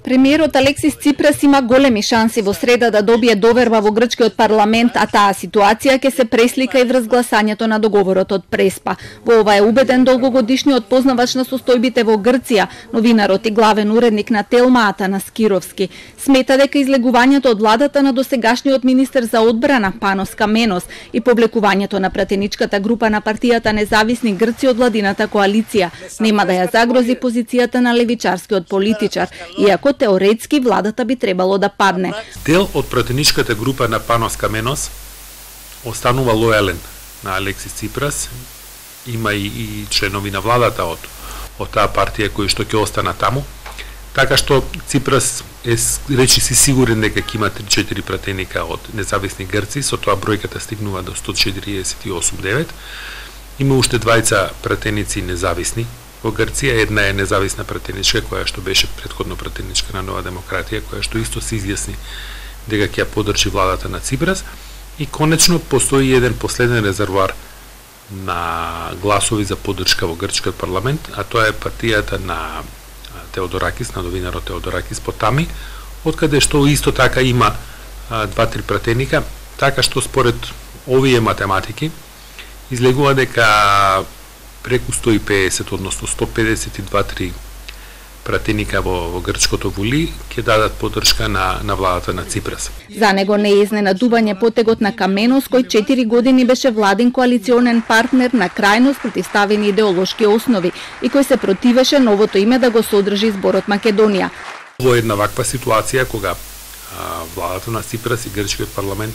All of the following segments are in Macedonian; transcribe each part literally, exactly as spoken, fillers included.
Премиерот Алексис Ципрас има големи шанси во среда да добие доверба во грчкиот парламент, а таа ситуација ќе се преслика и врз гласањето на договорот од Преспа. Во ова е убеден долгогодишниот познавач на состојбите во Грција, новинарот и главен уредник на Телма Атанас Кировски. Смета дека излегувањето од владата на досегашниот министер за одбрана Панос Каменос и повлекувањето на пратеничката група на партијата Независни Грци од владината коалиција нема да ја загрози позицијата на левичарскиот политичар, иако теоретски владата би требало да падне. Дел од пратеничката група на Панос Каменос останува лојален на Алексис Ципрас. Има и, и членови на владата од, од таа партија кои што ќе остана таму. Така што Ципрас е речи си сигурен дека ќе има три-четири пратеника од Независни Грци, со тоа бројката стигнува до сто четиридесет и осум целу девет. Има уште двајца пратеници независни во Грција, една е независна пратеничка која што беше претходно пратеничка на Нова демократија, која што исто се изјасни дека ќе ја поддржи владата на Ципрас, и конечно постои еден последен резервоар на гласови за поддршка во грчкиот парламент, а тоа е партијата на Теодоракис, на новинарот Теодоракис Потами, откаде што исто така има два-три пратеника, така што според овие математики излегува дека преку сто и педесет, односно сто педесет и два-три пратеника во, во грчкото воли ќе дадат поддршка на, на владата на Ципрас. За него не е изненадување потегот на Каменос, кој четири години беше владин коалиционен партнер на крајно спротивставени идеолошки основи и кој се противеше новото име да го содржи зборот Македонија. Во една ваква ситуација, кога а, владата на Ципрас и грчкиот парламент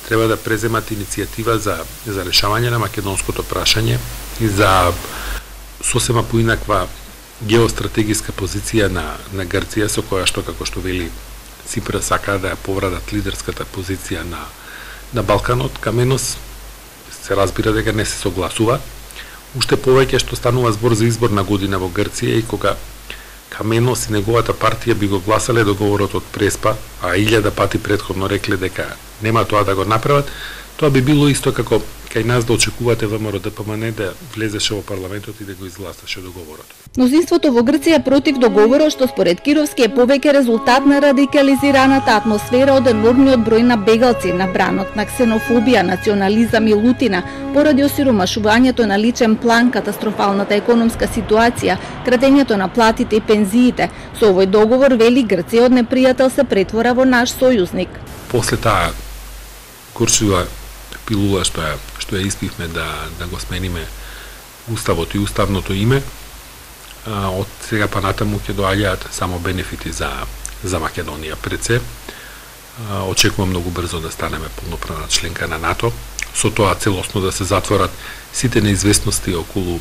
треба да преземат иницијатива за, за решавање на македонското прашање и за сосема поинаква геостратегиска позиција на, на Грција, со која што, како што вели Ципрас, сака да ја поврадат лидерската позиција на, на Балканот. Каменос се разбира дека не се согласува. Уште повеќе што станува збор за изборна година во Грција и кога Каменос и неговата партија би го гласале договорот од Преспа, а илјада пати претходно рекле дека нема тоа да го направат, тоа би било исто како кај нас да очекувате ВМРО Д П М Н да влезеше во парламентот и да го изгласаше договорот. Мнозинството во Грција против договорот, што според Кировски е повеќе резултат на радикализираната атмосфера од енормниот број на бегалци, на бранот на ксенофобија, национализам и лутина, поради осиромашувањето на личен план, катастрофалната економска ситуација, кратењето на платите и пензиите. Со овој договор, вели, Грција од непријател се претвора во наш сојузник. После таа горчива пилула што ја што ја испивме да да го смениме уставот и уставното име, а, од сега па натаму ќе доаѓаат само бенефити за за Македонија пред се. А, очекувам многу брзо да станеме полноправна членка на НАТО, со тоа целосно да се затворат сите неизвестности околу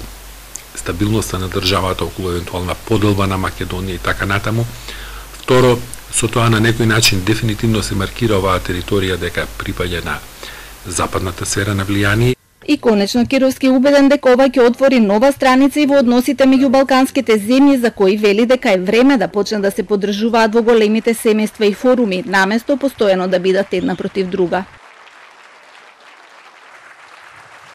стабилноста на државата, околу евентуална поделба на Македонија и така натаму. Второ, со тоа на некој начин дефинитивно се маркира оваа територија дека припаѓа на западната сфера на влијание. И конечно Кировски убеден дека ова ќе отвори нова страница и во односите меѓу балканските земји, за кои вели дека е време да почнат да се поддржуваат во големите семејства и форуми, наместо постојано да бидат една против друга.